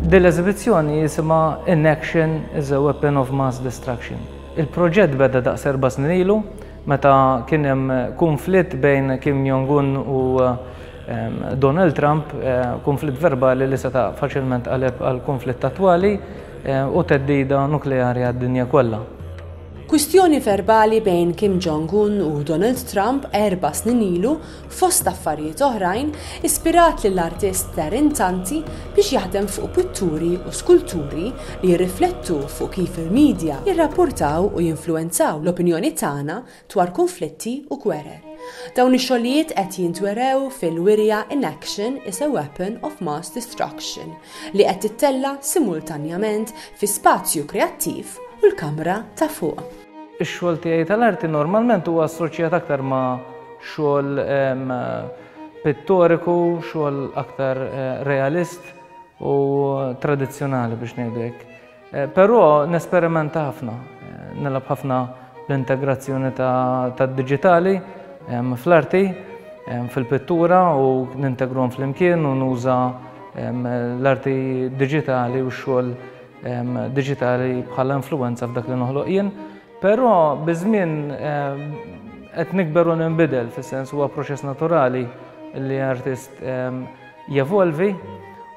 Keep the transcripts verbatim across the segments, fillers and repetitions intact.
Din l-eżibizzjoni jisimha "Inaction is a Weapon of Mass Destruction". Il-proġett beda daqs erba' snin ilu, meta kien hemm konflitt bejn Kim Jong-un u Donald Trump, konflitt verbali li seta' faċilment qaleb għal konflitt attwali u theddida nukleari għad-dinja kollha. Kwistjoni verbali bejn Kim Jong-un u Donald Trump erba' snin ilu, fost affarijiet oħrajn, ispirat lill-artist Darren Tanti biex jaħdem fuq pitturi u skulturi li jirriflettu fuq kif il-medja jirrapportaw u jinfluwenzaw l-opinjoni tagħna dwar konflitti u gwerer. Dawn ix-xogħlijiet qed jintwerew fil-wirja "Inaction is a Weapon of Mass Destruction" li qed tittella simultanjament fi Spazju Kreattiv u l-Kamra ta' Fuq. Ix-xogħol tiegħi tal-arti normalment huwa assoċjat aktar ma' xogħol pittoriku, xogħol aktar realist u tradizzjonali, biex ngħidu hekk. Però nesperimenta ħafna, nilgħab ħafna l-integrazzjoni tad-diġitali fl-arti, fil-pittura, u nintegrahom flimkien u nuża l-arti diġitali u x-xogħol diġitali bħala influenza f'dak li noħloq jien. Però biż-żmien qed nikber u ninbidel, fis-sens huwa proċess naturali li artist jevolvi,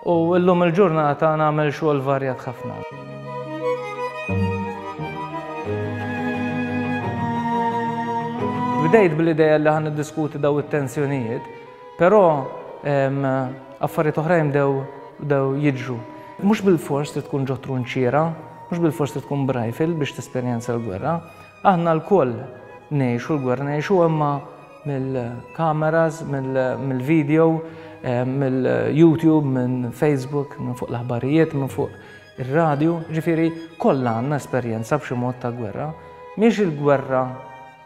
u llum il-ġurnata nagħmel xogħol varjat ħafna. Bdejt bl-idea li ħa niddiskuti daw it-tensjonijiet, però affarijiet oħrajn bdew jiġru. Mhux bil-fors li tkun ġo trunċiera, mhux bil-fors li tkun b'rifle biex tesperjenza l-gwerra. Aħna lkoll ngħixu l-gwerra, ngħixu imma mill-kameras, mill-video, mill-YouTube, minn Facebook, minn fuq l-aħbarijiet, minn fuq ir-radju, ġifieri kollha għandna esperjenza b'xi mod ta' gwerra. Mhix il-gwerra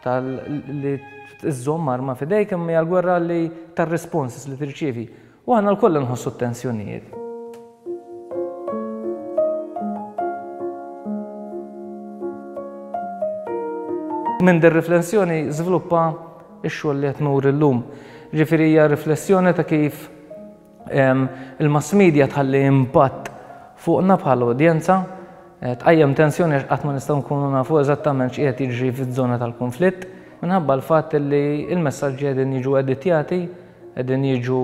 tal-li iżżomm arma f'idejk, imma hija l-gwerra li tar-responses li tirċievi. U aħna lkoll nħossu t-tensjonijiet. Minn din riflessjoni żviluppa x-xogħol li qed nuri llum. Ġifieri hija riflessjoni ta' kif il-mass media tħalli impatt fuqna bħala udjenza, tqajjem tensjoni għax qatt ma nistgħu nkunu nafu eżattament x'qiegħed jiġri fiż-żona tal-konflitt, minħabba l-fatt li l-messaġġi qegħdin jiġu editjati, qegħdin jiġu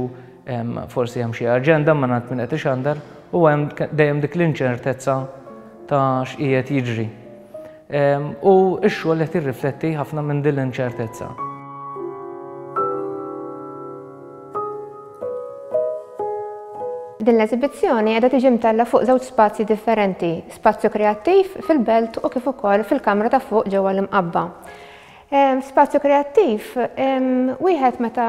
forsi hemm xi aġenda ma naf min qed ixandar, u hemm dejjem dik l-inċertezza ta' x'qiegħed jiġri. U x-xogħol qed jirrifletti ħafna minn din l-inċertezza. Din l-eżibizzjoni qiegħda tiġi mtella fuq żewġ spazji differenti, Spazju Kreattiv fil-Belt u kif ukoll fil-Kamra ta' Fuq ġewwa l-Imqabba. Spazju Kreattiv, wieħed meta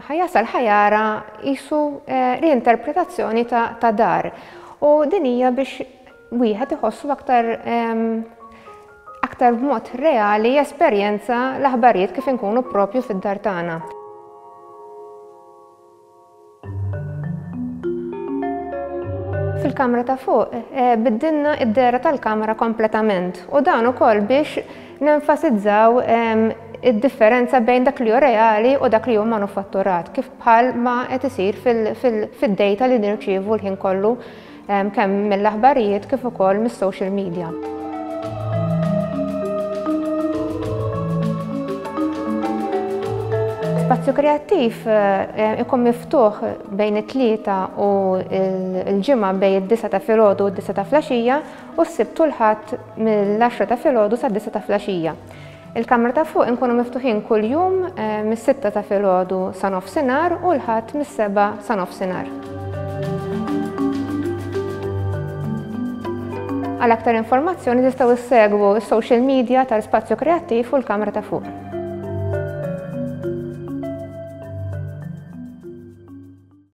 ħa jasal ħa jara qisu reinterpretazzjoni ta' dar, u din hija biex wieħed iħossu aktar aktar b'mod reali esperjenza l-aħbarijiet kif inkunu propju fid-dar tagħna. Fil-Kamra ta' Fuq biddilna id-dehra tal-kamra kompletament, u dan ukoll biex nenfasizzaw id-differenza bejn dak li hu reali u dak li hu manufatturat, kif bħal ma qed isir fid-data li nirċievu l-ħin kollu kemm mill-aħbarijiet kif ukoll mis-social media. Spazju Kreattiv ikun miftuħ bejn it-Tlieta u l-Ġimgħa bejn id-disgħa ta' filgħodu u d-disgħa ta' filgħaxija, u s-Sibt u l-Ħadd mill-għaxra ta' filgħodu sad-disgħa ta' filgħaxija. Il-Kamra ta' Fuq inkunu miftuħin kuljum mis-sitta ta' filgħodu sa nofsinhar u l-Ħadd mis-sebgħa sa nofsinhar. Għal aktar informazzjoni tistgħu issegwu s-social media tal-Spazju Kreattiv u l-Kamra ta' Fuq.